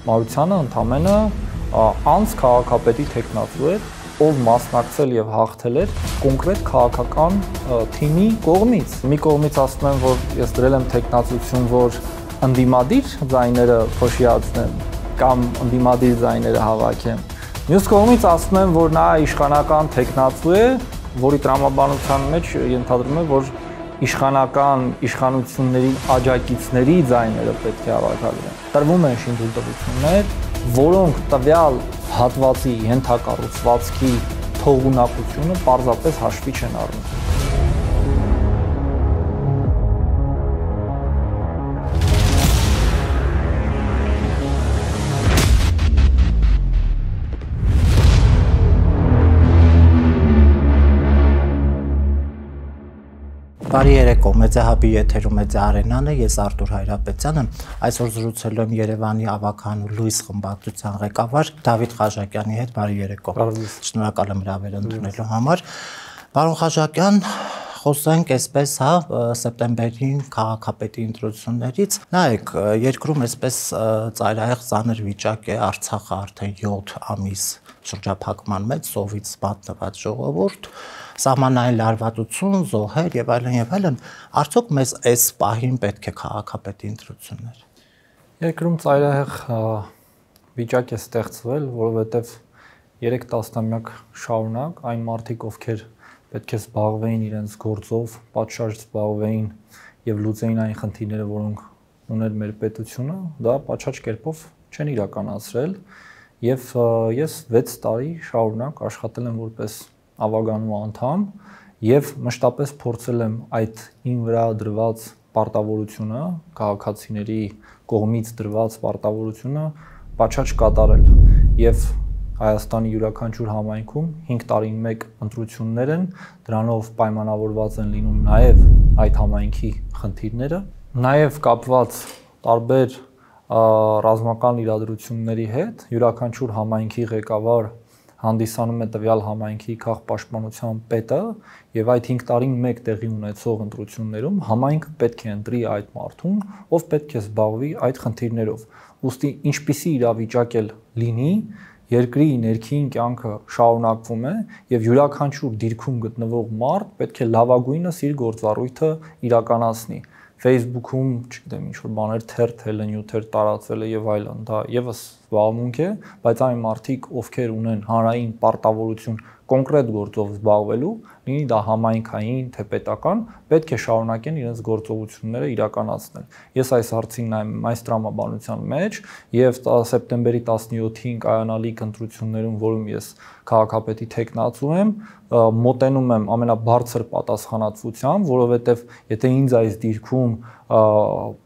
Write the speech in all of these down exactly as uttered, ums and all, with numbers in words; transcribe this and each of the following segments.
Մարությանը ընդամենը անց քաղաքապետի տեխնացու էր, ով մասնակցել եւ հաղթել էր կոնկրետ քաղաքական թիմի կողմից։ Մի կողմից ասում եմ, որ ես դրել եմ տեխնացություն, որ ընդդիմադիր ձայները փոշիացնեմ կամ ընդդիմադիր ձայները հավաքեմ։ Մյուս կողմից ասում եմ, որ նա իշխանական տեխնացու է, որի տրամաբանության մեջ ենթադրում է, որ իշխանական իշխանությունների աջակիցների ձայները պետք է հավաքագրեն։ Տրվում են շինթույլտվություններ, որոնք տվյալ հատվածի ենթակառուցվածքի թողունակությունը պարզապես հաշվի չեն առնում։ Բարի երեկո, Մեծահաբի եթերում Մեծա Արենան է, ես Արտուր Հայրապետյանը, այսօր զրուցելու եմ Երևանի ավագանու Լույս խմբակցության ղեկավար Դավիթ Խաչակյանի հետ, բարի երեկո։ Շնորհակալ եմ հրավեր ընդունելու համար։ Պարոն Խաչակյան, խոսենք այսպես, հա, սեպտեմբերին քաղաքապետի ընտրություններից։ Նայեք, երկրում այսպես ծայրահեղ ծանր վիճակ է, Արցախը արդեն յոթ ամիս շրջափակման մեջ, սովից մատնված ժողովուրդ, սահմանային լարվածություն, զոհեր եւ այլն եւ այլն, արդյոք մեզ այս պահին պետք է քաղաքապետի ընտրություններ։ Երկրում ծայրահեղ վիճակ է ստեղծվել, որովհետեւ երեք տասնամյակ շարունակ այն մարդիկ, ովքեր պետք է զբաղվեին իրենց գործով, պատշաճ զբաղվեին եւ լուծեին այն խնդիրները, որոնք ուներ մեր պետությունը, դա պատշաճ կերպով չեն իրականացրել եւ ես վեց տարի շարունակ աշխատել եմ որպես ավագանու անդամ եւ մշտապես փորձել եմ այդ ին վրա դրված պարտավորությունը, քաղաքացիների կողմից դրված պարտավորությունը պատշաճ կատարել եւ Հայաստանի յուրաքանչյուր համայնքում հինգ տարին մեկ ընտրություններ են, դրանով պայմանավորված են լինում նաեւ այդ համայնքի խնդիրները, նաեւ կապված տարբեր ռազմական իրադրությունների հետ, յուրաքանչյուր համայնքի ղեկավար հանդիսանում է տվյալ համայնքի քաղաքապաշտպանության պետը եւ այդ հինգ տարին մեկ տեղի ունեցող ընտրություններում համայնքը պետք է ընտրի այդ մարդուն, ով պետք է զբաղվի այդ խնդիրներով։ Ուստի ինչպիսի իրավիճակ էլ լինի, երկրի ներքին կյանքը շարունակվում է եւ յուրաքանչյուր դիրքում գտնվող մարդ պետք է լավագույնս իր գործառույթը իրականացնի։ Facebook-ում, չգիտեմ, ինչ-որ բաներ թերթ հելնյութեր տարածվելը եւ այլն, դա եւս զբաղմունք է, բայց այն մարդիկ, ովքեր ունեն հանրային պարտավորություն կոնկրետ գործով զբաղվելու, լինի դա համայնքային, թե պետական, պետք է շարունակեն իրենց գործողությունները իրականացնել։ Ես այս հարցին նայում այս տրամաբանության մեջ եւ սեպտեմբերի տասնյոթին կայանալիք ընտրություններում, որում ես քաղաքապետի տեխնացու եմ, մոտենում եմ ամենաբարձր պատասխանատվությամբ, որովհետեւ եթե ինձ այս դիրքում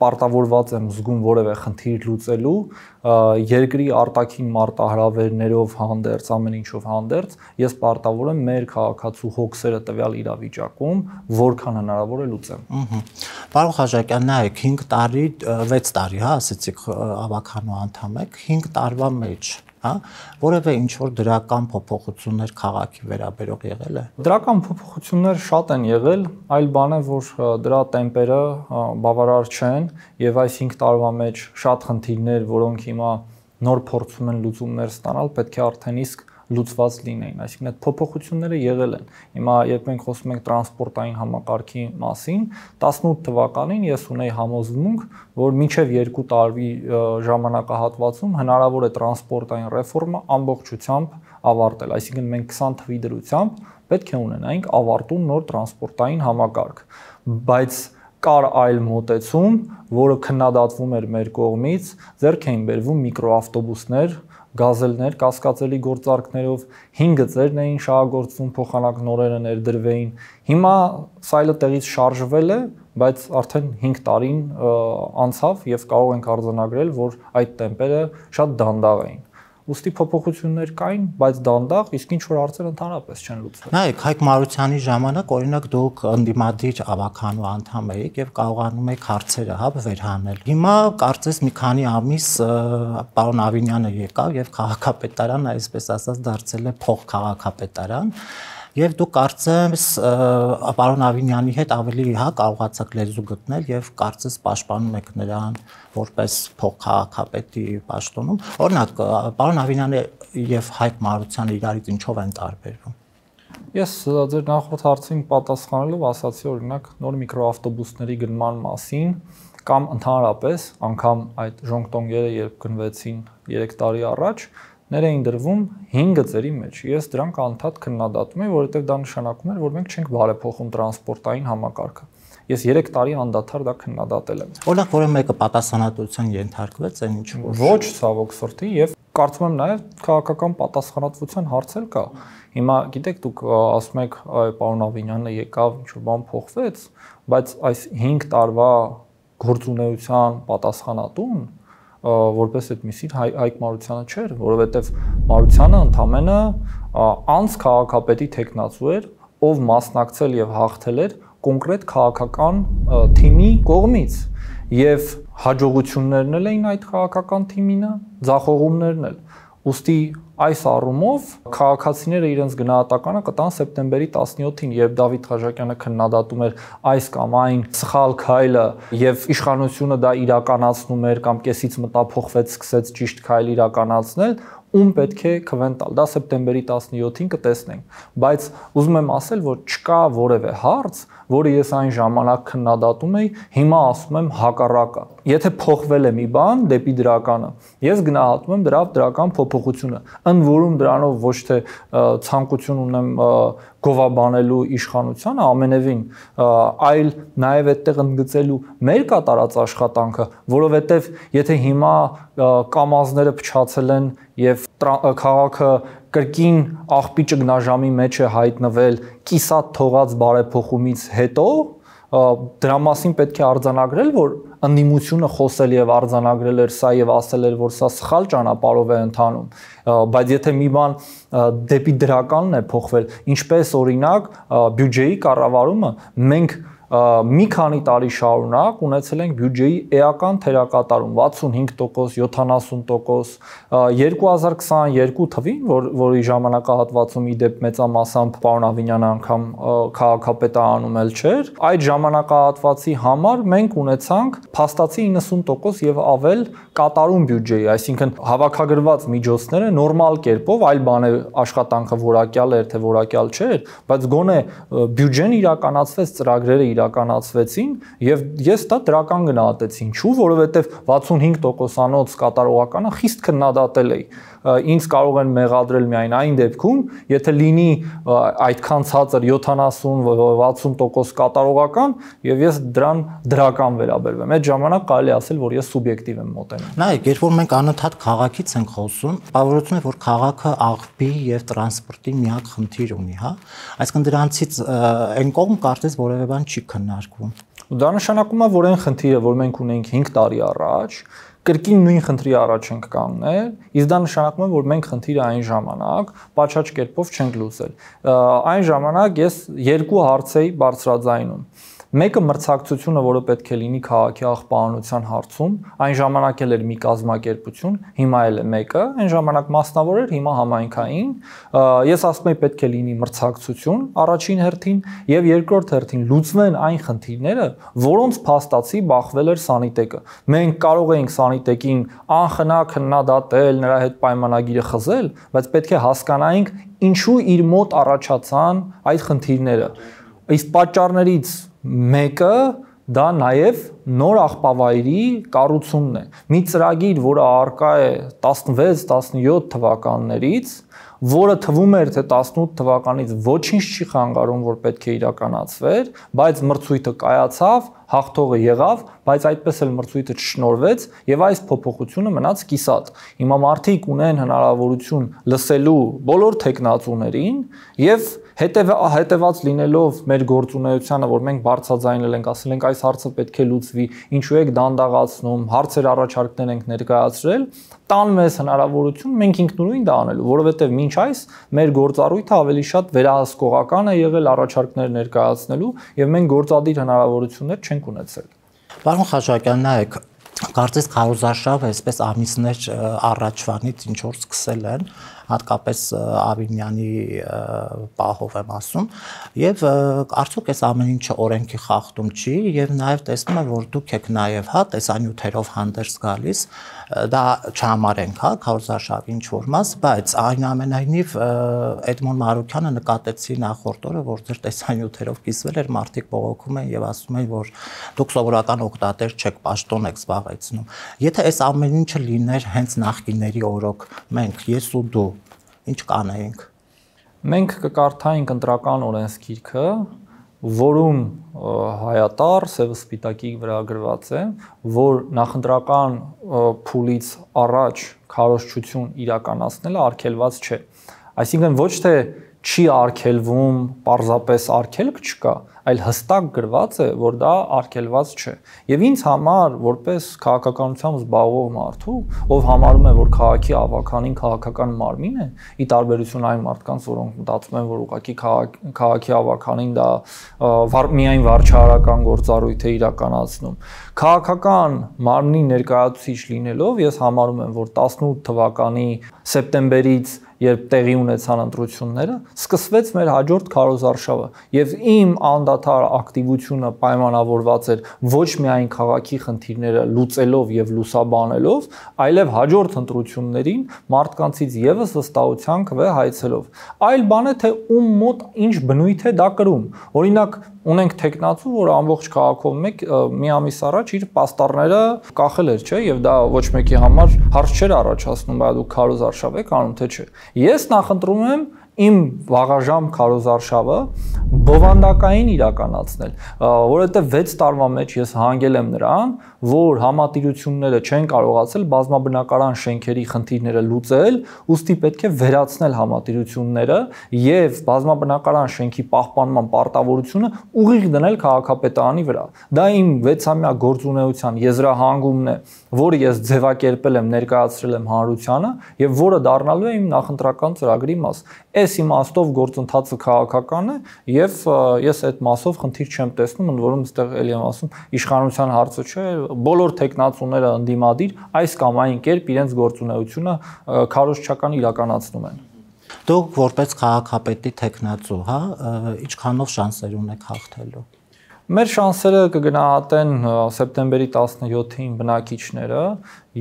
պարտավորված եմ զգում որևէ խնդիր լուծելու, երկրի արտաքին մարտահրավերներով հանդերձ, ամեն ինչով հանդերձ, ես պարտավոր եմ մեր քաղաքացու հոգսերը տվյալ իրավիճակում որքան հնարավոր է լուծեմ։ Պարոն Խաչակյան, նայեք, հինգ տարի, վեց տարի, հա, ասեցիք ավագանու անդամ եք, հինգ տարվա մեջ, հա, որևէ ինչ-որ դրական փոփոխություններ քաղաքի վերաբերող եղել է։ Դրական փոփոխություններ շատ են եղել, այլ բան է, որ դրա տեմպերը բավարար չեն եւ այս հինգ տարվա մեջ շատ խնդիրներ, որոնք հիմա նոր փորձում են լուծումներ ստանալ, պետք է արդեն իսկ լուծված լինեին, այսինքն այդ փոփոխությունները եղել են։ Հիմա երբ մենք խոսում ենք տրանսպորտային համակարգի մասին, տասնութ թվականին ես ունեի համոզմունք, որ մինչև երկու տարի ժամանակահատվածում հնարավոր է տրանսպորտային ռեֆորմը ամբողջությամբ ավարտել, այսինքն մենք քսան թվի դրությամբ պետք է ունենայինք ավարտուն նոր տրանսպորտային համակարգ, բայց կար այլ մոտեցում, որը քննադատվում էր մեր կողմից, ձեռք էին բերվում միկրոավտոբուսներ, գազելներ, կասկածելի գործարքներով, հինգ գծերն էին շահագործվում, փոխանակ նորերը ներդրվեին։ Հիմա սայլը տեղից շարժվել է, բայց արդեն հինգ տարին անցավ եւ կարող ենք արձանագրել, որ այդ տեմպերը շատ դանդաղ էին։ Ուստի փոփոխություններ կային, բայց դանդաղ, իսկ ինչ որ հարցեր ընդհանրապես չեն լուծվել։ Նայեք, Հայկ Մարությանի ժամանակ օրինակ դուք ընդդիմադիր ավագանու անդամ եք եւ կարողանում եք հարցերը հա վերհանել։ Հիմա կարծես մի քանի ամիս պարոն Ավինյանը եկավ եւ քաղաքապետարանը, այսպես ասած, դարձել է փոխ քաղաքապետարան։ Եվ դու կարծես պարոն Ավինյանի հետ ավելի հա կարողացաք լեզու գտնել եւ կարծես պաշտպանում եք նրան որպես փոխքաղաքապետի պաշտոնում։ Օրինակ, պարոն Ավինյանը եւ Հայկ Մարությանը իրարից ինչով են տարբերվում։ Ես ձեր նախորդ հարցին պատասխանելով ասացի օրինակ նոր միկրոավտոբուսների գնման մասին կամ ընդհանրապես անգամ այդ ժոնգտոնգերը երբ գնվեցին երեք տարի առաջ ներ էին դրվում հինգ գծերի մեջ։ Ես դրանք անդադ քննադատում եմ, որովհետև դա նշանակում էր, որ մենք չենք բարեփոխում տրանսպորտային համակարգը։ Ես երեք տարի անդադար դա քննադատել եմ։ Օրինակ, որը մեկը պատասխանատվության ենթարկվեց, այն ինչ որ ոչ ցավոք սրտի եւ կարծում եմ նաեւ քաղաքական պատասխանատվության հարց էլ կա։ Հիմա գիտեք դուք ասում եք, այ պարոն Ավինյանը եկավ, ինչ որ բան փոխվեց, բայց այս հինգ տարվա գործունեության պատասխանատուն որպես այդմիսի Հայկ Մարությանը չէր, որովհետև Մարությանը ընդամենը անց քաղաքապետի տեխնացու էր, ով մասնակցել եւ հաղթել էր կոնկրետ քաղաքական թիմի կողմից եւ հաջողություններն էլ էին այդ քաղաքական թիմինը, ձախողումներն էլ։ Ուստի այս առումով քաղաքացիները իրենց գնահատականը կտան սեպտեմբերի տասնյոթին, երբ Դավիթ Խաչատյանը քննադատում էր այս կամ այն սխալ քայլը եւ իշխանությունը դա իրականացնում էր կամ կեսից մտափոխվեց, սկսեց ճիշտ քայլ իրականացնել, ում պետք է քվեն տալ։ Դա սեպտեմբերի տասնյոթին կտեսնենք, բայց ուզում եմ ասել, որ չկա որևէ հարց, որը ես այն ժամանակ քննադատում էի, հիմա ասում եմ հակառակը։ Եթե փոխվել է մի բան դեպի դրականը, ես գնահատում եմ դրա դրական փոփոխությունը, ընդ որում դրանով ոչ թե ցանկություն ունեմ գովաբանելու իշխանությանը ամենևին, այլ նաև այդտեղ ընդգծելու մեր կատարած աշխատանքը, որովհետև եթե հիմա կամազները փչացել են եւ քաղաքը կրկին աղբի ճգնաժամի մեջ է հայտնվել կիսատ թողած բարեփոխումից հետո դրա մասին պետք է արձանագրել, որ ընդդիմությունը խոսել եւ արձանագրել էր սա եւ ասել էր, որ սա սխալ ճանապարհով է ընթանում, բայց եթե մի բան դեպի դրականն է փոխվել, ինչպես օրինակ բյուջեի կառավարումը, մենք մի քանի տարի շարունակ ունեցել ենք բյուջեի էական թերակատարում վաթսունհինգ տոկոս, յոթանասուն տոկոս, երկու հազար քսաներկու թվին, որ որի ժամանակահատվածում ի դեպ մեծամասամբ պարոն Ավինյանը անգամ քաղաքապետարանում էլ չէր, այդ ժամանակահատվածի համար մենք ունեցանք փաստացի իննսուն տոկոս եւ ավել կատարում բյուջեի, այսինքն հավաքագրված միջոցները նորմալ կերպով, այլ բան է աշխատանքը որակյալ էր թե որակյալ չէր, բայց գոնե բյուջեն իրականացվեց, ծրագրերը իրականացվեցին եւ ես դա դրական գնահատեցի, ինչու, որովհետեւ վաթսունհինգ տոկոսանոց կատարողականը խիստ քննադատել էի, ինձ կարող են մեղադրել միայն այն դեպքում, եթե լինի այդքան ցածր յոթանասուն վաթսուն տոկոս կատարողական եւ ես դրան դրական վերաբերվեմ։ Այդ ժամանակ կարելի ասել, որ ես սուբյեկտիվ եմ մոտենում։ Նայեք, երբ որ մենք անընդհատ քաղաքից ենք խոսում, բավարարություն է, որ քաղաքը աղբի եւ տրանսպորտի միակ խնդիր ունի, հա։ Այսինքն դրանցից այն կողմ կարծես որևէ բան չի քննարկվում։ Դա նշանակում է, որ այն խնդիրը, որ մենք ունենք հինգ տարի առաջ, կրկին նույն խնդրի առաջ ենք կանգնել, իսկ դա նշանակում է, որ մենք խնդիրը այն ժամանակ պատշաճ կերպով չենք լուծել։ Այն ժամանակ ես երկու հարց էի բարձրաձայնում։ Մեկը մրցակցությունը, որը պետք է լինի քաղաքի աղբանության հարցում, այն ժամանակ էլ էր մի կազմակերպություն, հիմա էլ է մեկը, այն ժամանակ մասնավոր էր, հիմա համայնքային։ Ես ասում եմ պետք է լինի մրցակցություն առաջին հերթին եւ երկրորդ հերթին լուծվեն այն խնդիրները, որոնց փաստացի բախվել էր Սանիտեկը։ Մենք կարող էինք Սանիտեկին անխնա քննադատել, նրա հետ պայմանագիրը խզել, բայց պետք է հասկանայինք ինչու իր մոտ առաջացան այդ խնդիրները։ Իսկ պատճառներից մեկը դա նաև նոր աղբավայրի կառուցումն է։ Մի ծրագիր, որը առկա է տասնվեց տասնյոթ թվականներից, որը թվում էր թե տասնութ թվականից ոչինչ չի խանգարում, որ պետք է իրականացվեր, բայց մրցույթը կայացավ, հաղթողը եղավ, բայց այդպես էլ մրցույթը չշնորհվեց եւ այս փոփոխությունը մնաց կիսատ։ Հիմա մարդիկ ունեն հնարավորություն լսելու բոլոր տեխնացուներին եւ հետեւած լինելով մեր գործունեությանը, որ մենք բարձրաձայնել ենք, ասել ենք այս հարցը պետք է լուծվի, ինչու եք դանդաղացնում, հարցեր առաջարկներ ենք ներկայացրել, տան մեզ հնարավորություն մենք ինքնուրույն դա անելու, որովհետեւ մինչ այս մեր գործառույթը ավելի շատ վերահսկողական է եղել առաջարկներ ներկայացնելու եւ մենք գործադիր հնարավորություններ չենք ունեցել։ Պարոն Խաչատյան, նայեք, Կարծես քարոզարշավը այսպես ամիսներ առաջվանից ինչ որ սկսել են, հատկապես Ավինյանի պահով եմ ասում, եւ արդյոք այս ամեն ինչը օրենքի խախտում չի, եւ նաեւ տեսնում եմ, որ դուք եք նաեւ հա տեսանյութերով հանդերձ գալիս, դա չհամարենք, հա, քարոզարշավի ինչ որ մաս, բայց այնուամենայնիվ Էդմոն Մարուկյանը նկատեցի նախորդ օրը, որ ձեր տեսանյութերով կիսվել էր, մարդիկ բողոքում են եւ ասում են, որ դուք սովորական օգտատեր չեք, պաշտոն եք զբաղեցնում։ Եթե այս ամեն ինչը լիներ հենց նախկինների օրոք, մենք, ես ու դու, ինչ կանեինք։ Մենք կկարդայինք ընտրական օրենսգիրքը, որում հայատար սև սպիտակի վրա գրված է, որ նախընտրական փուլից առաջ քարոզչություն իրականացնելը արգելված չէ։ Այսինքն ոչ թե չի արգելվում, պարզապես արգելք չկա, այլ հստակ գրված է, որ դա արգելված չէ։ Եվ ինձ համար, որպես քաղաքականությամբ զբաղվող մարդու, ով համարում է, որ քաղաքի ավականին քաղաքական մարմին է, ի տարբերություն այն մարդկանց, որոնք մտածում են, որ ուղղակի քաղաքի ավականին դա միայն վարչահարական գործառույթ է իրականացնում։ Քաղաքական մարմնի ներկայացուցիչ լինելով, ես համարում եմ, որ տասնութ թվականի սեպտեմբերից երբ տեղի ունեցան ընտրությունները, սկսվեց մեր հաջորդ քարոզարշավը եւ իմ անդադար ակտիվությունը պայմանավորված էր ոչ միայն քաղաքի խնդիրները լուծելով եւ լուսաբանելով, այլև հաջորդ ընտրություններին մարդկանցից եւս վստահության քվե հայցելով։ Այլ բան է թե ում մոտ ինչ բնույթ է դա կրում։ Օրինակ ունենք տեխնացու, որ ամբողջ քաղաքով մեկ մի ամիս առաջ իր պաստառները կախել էր, չէ, եւ դա ոչ մեկի համար հարց չէր առաջացնում, բայց դու քարոզարշավ եք անում, թե չէ։ Ես նախընտրում եմ իմ վաղաժամ քարոզարշավը բովանդակային իրականացնել, որովհետև վեց տարվա մեջ ես հանգել եմ նրան, որ համատիրությունները չեն կարողացել բազմաբնակարան շենքերի խնդիրները լուծել, ուստի պետք է վերացնել համատիրությունները եւ բազմաբնակարան շենքի պահպանման պարտավորությունը ուղիղ դնել քաղաքապետարանի վրա։ Դա իմ վեցամյա գործունեության եզրահանգումն է, որը ես ձևակերպել եմ, ներկայացրել եմ հանրությանը եւ որը դառնալու է իմ նախընտրական ծրագրի մաս։ Այս իմաստով գործընթացը քաղաքական է եւ ես այդ մասով խնդիր չեմ տեսնում, ընդ որում այստեղ էլի եմ ասում, իշխանության հարցը չէ, բոլոր տեխնացուները ընդդիմադիր այս կամ այն կերպ իրենց գործունեությունը քարոզչական իրականացնում են։ Դուք որպես քաղաքապետի տեխնացու, հա, ինչքանով շանսեր ունեք հաղթելու։ Մեր շանսերը կգնահատեն սեպտեմբերի տասնյոթին բնակիչները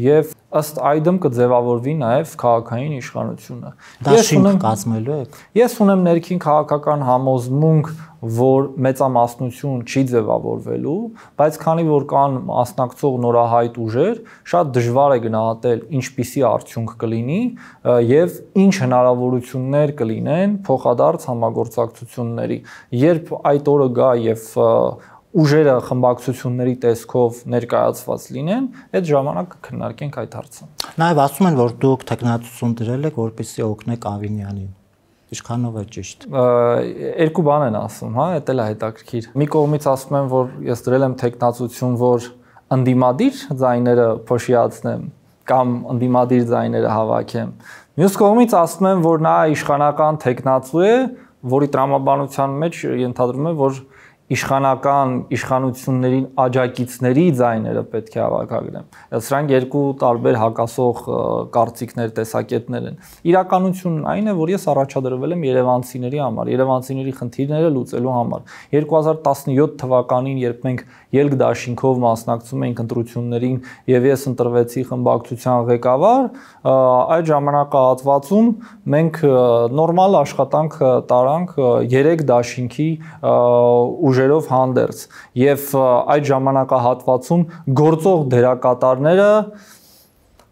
եւ ըստ այդմ կձևավորվի նաեւ քաղաքային իշխանությունը։ Ես ունեմ կազմելու եք։ Ես ունեմ ներքին քաղաքական համոզմունք, որ մեծամասնություն չի ձևավորվելու, բայց քանի որ կան մասնակցող նորահայտ ուժեր, շատ դժվար է գնահատել ինչպիսի արդյունք կլինի եւ ինչ հնարավորություններ կլինեն փոխադարձ համագործակցությունների։ Երբ այդ օրը գա եւ ուժերը խմբակցությունների տեսքով ներկայացված լինեն, այդ ժամանակ կքննարկենք այդ հարցը։ Նաև ասում են, որ դուք տեխնացություն դրել եք, որպեսզի օգնեք Ավինյանին։ Ինչքանով է ճիշտ։ Երկու բան են ասում, հա, դա էլ է հետաքրքիր։ Մի կողմից ասում են, որ ես դրել եմ տեխնացություն, որ ընդդիմադիր ձայները փոշիացնեմ կամ ընդդիմադիր ձայները հավաքեմ։ Մյուս կողմից ասում են, որ նա իշխանական տեխնացու է, որի տրամաբանության մեջ ենթադրում է, որ իշխանական իշխանություններին աջակիցների ձայները պետք է հավաքագրեն։ Սրանք երկու տարբեր հակասող կարծիքներ, տեսակետներ են։ Իրականությունն այն է, որ ես առաջադրվել եմ երևանցիների համար, երևանցիների խնդիրները լուծելու համար։ երկու հազար տասնյոթ թվականին, երբ մենք ելք դաշինքով մասնակցում էինք ընտրություններին եւ ես ընտրվեցի խմբակցության ղեկավար, այդ ժամանակահատվածում մենք նորմալ աշխատանք տարանք երեք դաշինքի ուժերով հանդերձ եւ այդ ժամանակահատվածում գործող դերակատարները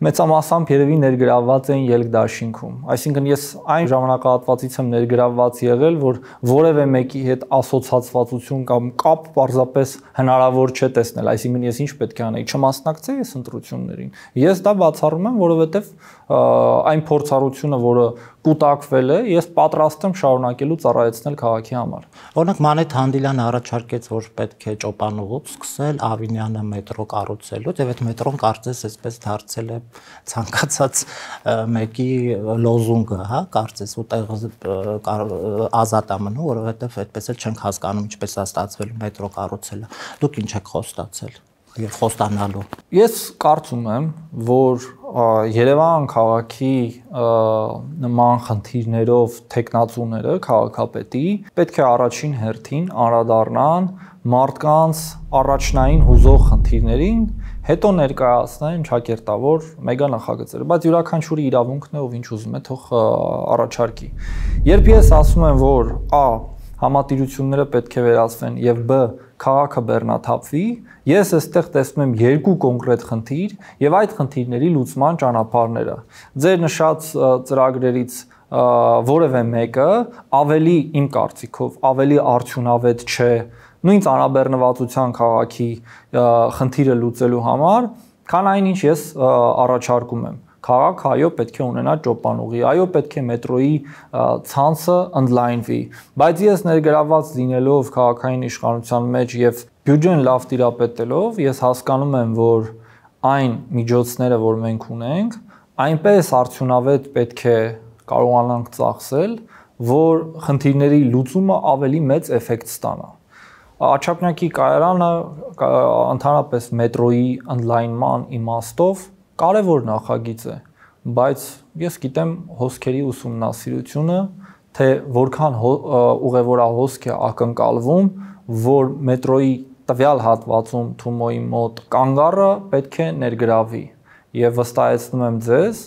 մեծամասամբ երևի ներգրավված էին ելք դաշինքում։ Այսինքն ես այն ժամանակահատվածից եմ ներգրավված եղել, որ որևէ մեկի հետ ասոցացվածություն կամ կապ պարզապես հնարավոր չէ տեսնել, այսինքն ես ինչ պետք է անեի, չմասնակցեի այս ընտրություններին։ Ես դա բացառում եմ, որովհետեւ այն փորձառությունը, որը կուտակվել է, ես պատրաստ եմ շարունակելու ծառայեցնել քաղաքի համար։ Օրինակ Մանեթ Հանդիլյանը առաջարկեց, որ պետք է ճոպանուղուց սկսել Ավինյանը մետրո կառուցելուց, եւ այդ մետրոն կարծես այսպես դարձել է ցանկացած մեկի լոզունգը, հա, կարծես ուտեղ ազատ է մնում, որովհետեւ այդպես էլ չենք հասկանում ինչպես է ստացվել մետրո կառուցելը։ Դուք ինչ եք խոստացել։ եւ խոստանալու։ Ես կարծում եմ, որ Երևան քաղաքի նման խնդիրներով տեխնացուները քաղաքապետի պետք է առաջին հերթին անդրադառնան մարդկանց առաջնային հուզող խնդիրներին, հետո ներկայացնեն ճակերտավոր մեգա նախագծերը, բայց յուրաքանչյուրի իրավունքն է, ով ինչ ուզում է, թող առաջարկի։ Երբ ես ասում եմ, որ Ա. համատիրությունները պետք է վերացվեն եւ Բ. քաղաքը բեռնաթափվի, ես այստեղ տեսնում եմ երկու կոնկրետ խնդիր եւ այդ խնդիրների լուծման ճանապարհները։ Ձեր նշած ծրագրերից որևէ մեկը ավելի իմ կարծիքով ավելի արդյունավետ չէ նույն ծանրաբեռնվածության քաղաքի խնդիրը լուծելու համար, քան այնինչ ես առաջարկում եմ։ Քաղաքը այո պետք է ունենա ճոպանուղի, այո պետք է մետրոյի ցանցը ընդլայնվի, բայց ես ներգրավված լինելով քաղաքային իշխանության մեջ եւ բյուջեն լավ տիրապետելով, ես հասկանում եմ, որ այն միջոցները, որ մենք ունենք, այնպես արդյունավետ պետք է կարողանանք ծախսել, որ խնդիրների լուծումը ավելի մեծ էֆեկտ ստանա։ Աչափնյակի կայարանը ընդհանրապես մետրոյի ընդլայնման իմաստով կարևոր նախագիծ է, բայց ես գիտեմ հոսքերի ուսումնասիրությունը, թե որքան ուղևորահոսք է ակնկալվում, որ մետրոյի տվյալ հատվածում Թումոյի մոտ կանգառը պետք է ներգրավի եւ վստահեցնում եմ ձեզ,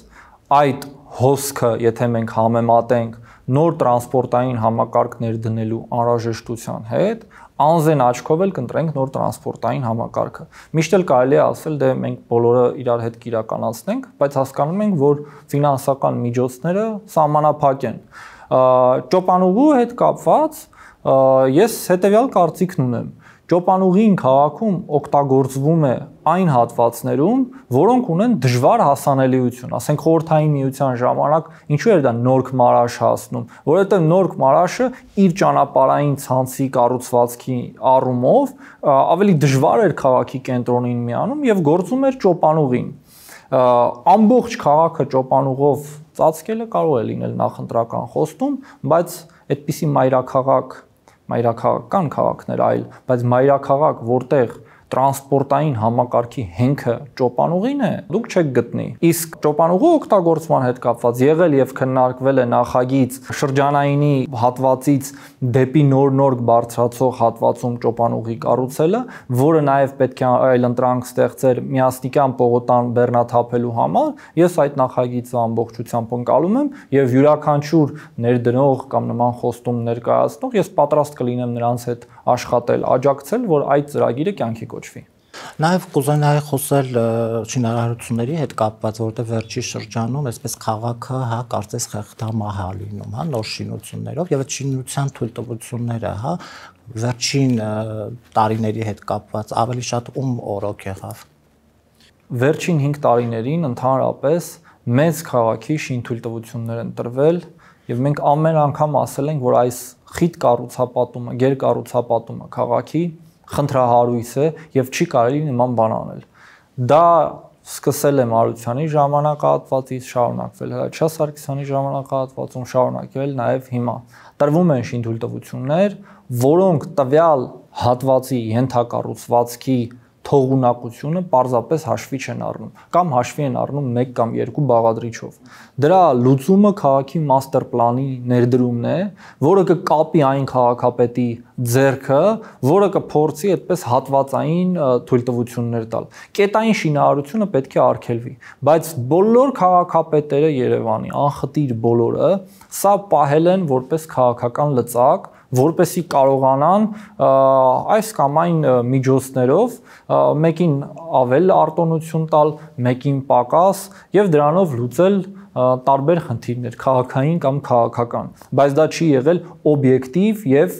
այդ հոսքը, եթե մենք համեմատենք նոր տրանսպորտային համակարգ ներդնելու անհրաժեշտության հետ, անզեն աչքով էլ կընտրենք նոր տրանսպորտային համակարգը։ Միշտ էլ կարելի է ասել, դե մենք բոլորը իրար հետ կիրականացնենք, բայց հասկանում ենք, որ ֆինանսական միջոցները սահմանափակ են։ Ճոպանուղու հետ կապված ես հետեւյալ կարծիքն ունեմ։ Ճոպանուղին քաղաքում օգտագործվում է այն հատվածներում, որոնք ունեն դժվար հասանելիություն, ասենք խորհրդային միության ժամանակ ինչու էր դա Նորք Մարաշ հասնում, որովհետև Նորք Մարաշը իր ճանապարհային ցանցի կառուցվածքի առումով ավելի դժվար էր քաղաքի կենտրոնին միանում եւ գործում էր ճոպանուղին։ Ամբողջ քաղաքը ճոպանուղով ծածկելը կարող է լինել նախընտրական խոստում, բայց այդպիսի մայրաքաղաք մայրաքաղաքական քաղաքներ այլ, բայց մայրաքաղաք, որտեղ տրանսպորտային համակարգի հենքը ճոպանուղին է, դուք չեք գտնի։ Իսկ ճոպանուղու օգտագործման հետ կապված եղել եւ քննարկվել է նախագիծ շրջանայինի հատվածից դեպի նոր-նոր բարձրացող հատվածում ճոպանուղի կառուցելը, որը նաեւ պետք է այլընտրանք ստեղծեր միասնիկյան պողոտան բեռնաթափելու համար, ես այդ նախագիծը ամբողջությամբ ընկալում եմ եւ յուրաքանչյուր ներդնող կամ նման խոստում ներկայացնող ես պատրաստ կլինեմ նրանց հետ աշխատել, աջակցել, որ այդ ծրագիրը կյանքի կոչվի։ Նաև կուզենայի խոսել շինարարությունների հետ կապված, որտեղ վերջի շրջանում այսպես քաղաքը, հա, կարծես խեղդամահ է լինում, հա, նոր շինություններով եւ այդ շինության թույլտվությունները, հա, վերջին տարիների հետ կապված ավելի շատ ում օրոք եղավ։ Վերջին հինգ տարիներին ընդհանրապես մեծ քաղաքի շինթույլտվություններ են տրվել եւ մենք ամեն անգամ ասել ենք, որ այս խիտ կառուցապատումը, գերկառուցապատումը քաղաքի խնդրահարույց է եւ չի կարելի նման բան անել։ Դա սկսել է Մարությանի ժամանակահատվածից, շարունակվել Հրաչյա Սարգսյանի ժամանակահատվածում, շարունակվել նաեւ հիմա։ Տրվում են շինթույլտվություններ, որոնք տվյալ հատվածի ենթակառուցվածքի թողունակությունը պարզապես հաշվի չեն առնում կամ հաշվի են առնում մեկ կամ երկու բաղադրիչով։ Դրա լուծումը քաղաքի մաստեր պլանի ներդրումն է, որը կկապի այն քաղաքապետի ձեռքը, որը կփորձի այդպես հատվածային թույլտվություններ տալ։ Կետային շինարարությունը պետք է արգելվի, բայց բոլոր քաղաքապետերը Երևանի, անխտիր բոլորը, սա պահել են որպես քաղաքական լծակ, որպեսի կարողանան այս կամ այն միջոցներով մեկին ավել արտոնություն տալ, մեկին պակաս եւ դրանով լուծել տարբեր խնդիրներ, քաղաքային կամ քաղաքական, բայց դա չի եղել օբյեկտիվ եւ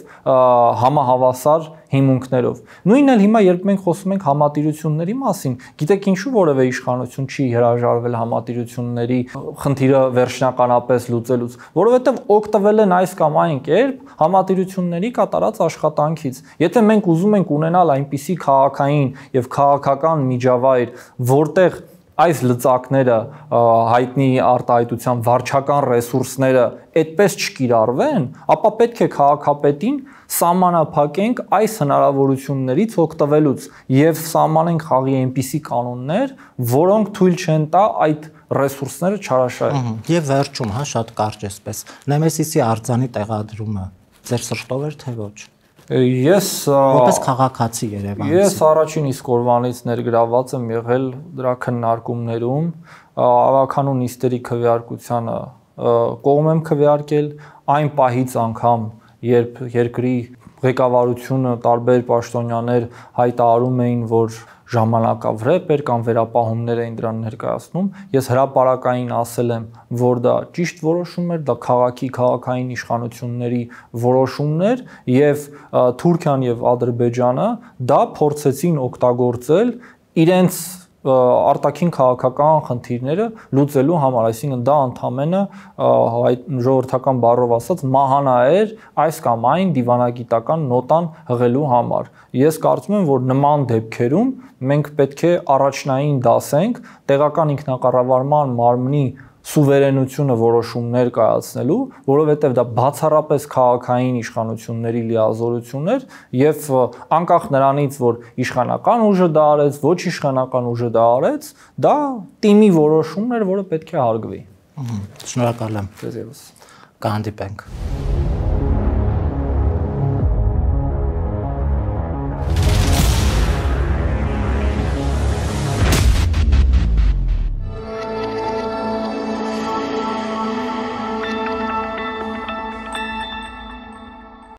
համահավասար հիմունքներով։ Նույնն էլ հիմա երբ մենք խոսում ենք համատիրությունների մասին, գիտեք ինչու որևէ իշխանություն չի հրաժարվել համատիրությունների խնդիրը վերջնականապես լուծելուց, որովհետեւ օգտվել են այս կամ այն կերպ համատիրությունների կատարած աշխատանքից։ Եթե մենք ուզում ենք ունենալ այնպիսի քաղաքային եւ քաղաքական միջավայր, որտեղ այս լծակները հայտնի արտահայտության վարչական ռեսուրսները այդպես չկիրառվեն, ապա պետք է քաղաքապետին սահմանափակենք այս հնարավորություններից օգտվելուց եւ սահմանենք խաղի այնպիսի կանոններ, որոնք թույլ չեն տա այդ ռեսուրսները չարաշահել։ Եվ վերջում, հա, շատ կարճ էսպես, Նեմեսիսի արձանի տեղադրումը ձեր սրտով էր թե ոչ։ Ես որպես քաղաքացի Երևանցի։ Ես առաջին իսկ օրվանից ներգրաված եմ եղել դրա քննարկումներում, ավականու նիստերի քվեարկությանը կողմ եմ քվեարկել, այն պահից անգամ, երբ երկրի ղեկավարությունը տարբեր պաշտոնյաներ հայտարարում էին, որ ժամանակավրեպ էր կամ վերապահումներ էին դրան ներկայացնում, ես հրապարակային ասել եմ, որ դա ճիշտ որոշում էր, դա քաղաքի քաղաքային իշխանությունների որոշումն էր եւ Թուրքիան եւ Ադրբեջանը դա փորձեցին օգտագործել իրենց արտաքին քաղաքական խնդիրները լուծելու համար, այսինքն դա ընդամենը ժողովրդական բառով ասած մահանա էր այս կամ այն դիվանագիտական նոտան հղելու համար։ Ես կարծում եմ, որ նման դեպքերում մենք պետք է առաջնային դասենք տեղական ինքնակառավարման մարմնի սուվերենությունը որոշումներ կայացնելու, որովհետև դա բացառապես քաղաքային իշխանությունների լիազորություն էր եւ անկախ նրանից, որ իշխանական ուժը դա արեց, ոչ իշխանական ուժը դա արեց, դա թիմի որոշումն էր, որը պետք է հարգվի։ Շնորհակալ եմ։ Ձեզ ևս։ Կհանդիպենք։